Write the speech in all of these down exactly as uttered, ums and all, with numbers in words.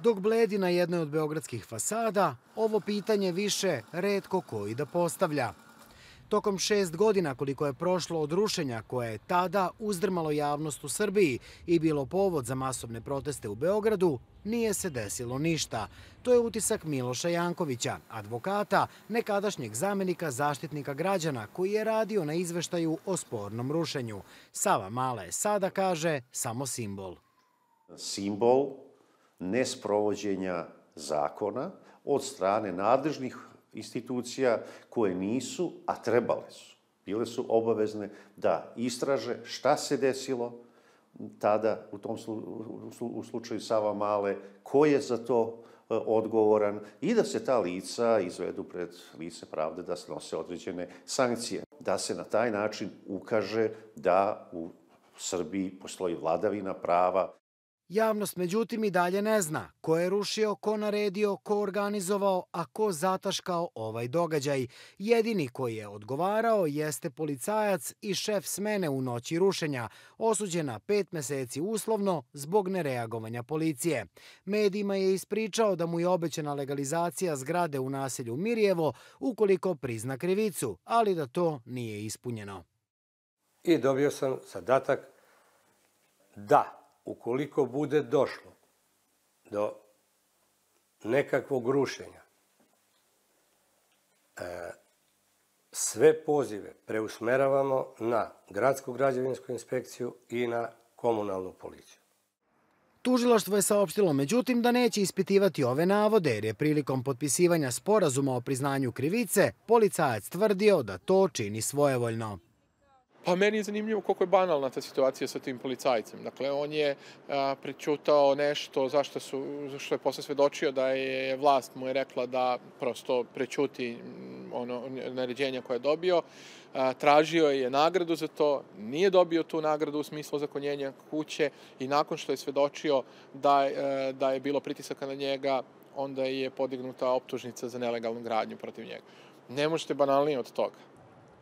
Dok bledi na jednoj od beogradskih fasada, ovo pitanje više retko koji da postavlja. Tokom šest godina koliko je prošlo od rušenja koje je tada uzdrmalo javnost u Srbiji i bilo povod za masovne proteste u Beogradu, nije se desilo ništa. To je utisak Miloša Jankovića, advokata, nekadašnjeg zamenika zaštitnika građana koji je radio na izveštaju o spornom rušenju. Savamala je sada, kaže, samo simbol. Simbol nesprovođenja zakona od strane nadležnih institucija koje nisu, a trebale su. Bile su obavezne da istraže šta se desilo tada u tom u slučaju Savamale, ko je za to odgovoran i da se ta lica izvedu pred lice pravde, da snose određene sankcije. Da se na taj način ukaže da u Srbiji postoji vladavina prava. Javnost, međutim, i dalje ne zna ko je rušio, ko naredio, ko organizovao, a ko zataškao ovaj događaj. Jedini koji je odgovarao jeste policajac i šef smene u noći rušenja, osuđen na pet meseci uslovno zbog nereagovanja policije. Medijima je ispričao da mu je obećana legalizacija zgrade u naselju Mirjevo ukoliko prizna krivicu, ali da to nije ispunjeno. I dobio sam zadatak da ukoliko bude došlo do nekakvog rušenja, sve pozive preusmeravamo na gradsku građevinsku inspekciju i na komunalnu policiju. Tužilaštvo je saopštilo, međutim, da neće ispitivati ove navode, jer je prilikom potpisivanja sporazuma o priznanju krivice policajac tvrdio da to čini svojevoljno. Pa meni je zanimljivo koliko je banalna ta situacija sa tim policajcem. Dakle, on je prećutao nešto zašto što je posle svedočio da je vlast mu je rekla da prosto prećuti ono naređenja koje je dobio. Tražio je nagradu za to, nije dobio tu nagradu u smislu ozakonjenja kuće i nakon što je svedočio da, da je bilo pritisaka na njega, onda je podignuta optužnica za nelegalnu gradnju protiv njega. Ne možete banalnije od toga.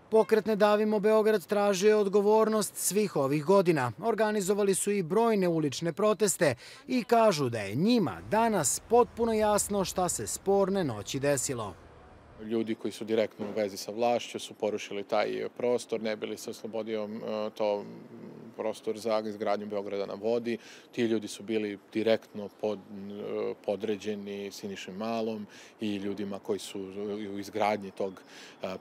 Pokret Ne davimo Beograd tražio je odgovornost svih ovih godina. Organizovali su i brojne ulične proteste i kažu da je njima danas potpuno jasno šta se sporne noći desilo. Ljudi koji su direktno u vezi sa vlašću su porušili taj prostor, ne bili se oslobodio to prostor za izgradnju Beograda na vodi. Ti ljudi su bili direktno pod, podređeni Siniši Malom i ljudima koji su u izgradnji tog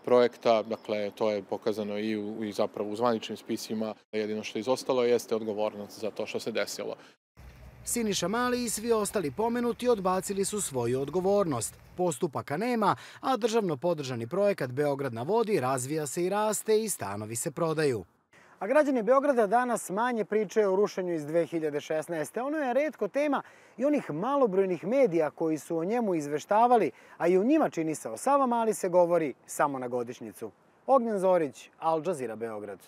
projekta. Dakle, to je pokazano i, u, i zapravo u zvaničnim spisima. Jedino što je izostalo jeste odgovornost za to što se desilo. Siniša Mali i svi ostali pomenuti odbacili su svoju odgovornost. Postupaka nema, a državno podržani projekat Beograd na vodi razvija se i raste i stanovi se prodaju. A građani Beograda danas manje pričaju o rušenju iz dve hiljade šesnaeste. Ono je retko tema i onih malobrojnih medija koji su o njemu izveštavali, a i u njima, čini se, o Savamali se govori samo na godišnjicu. Ognjen Zorić, Al Jazeera, Beograd.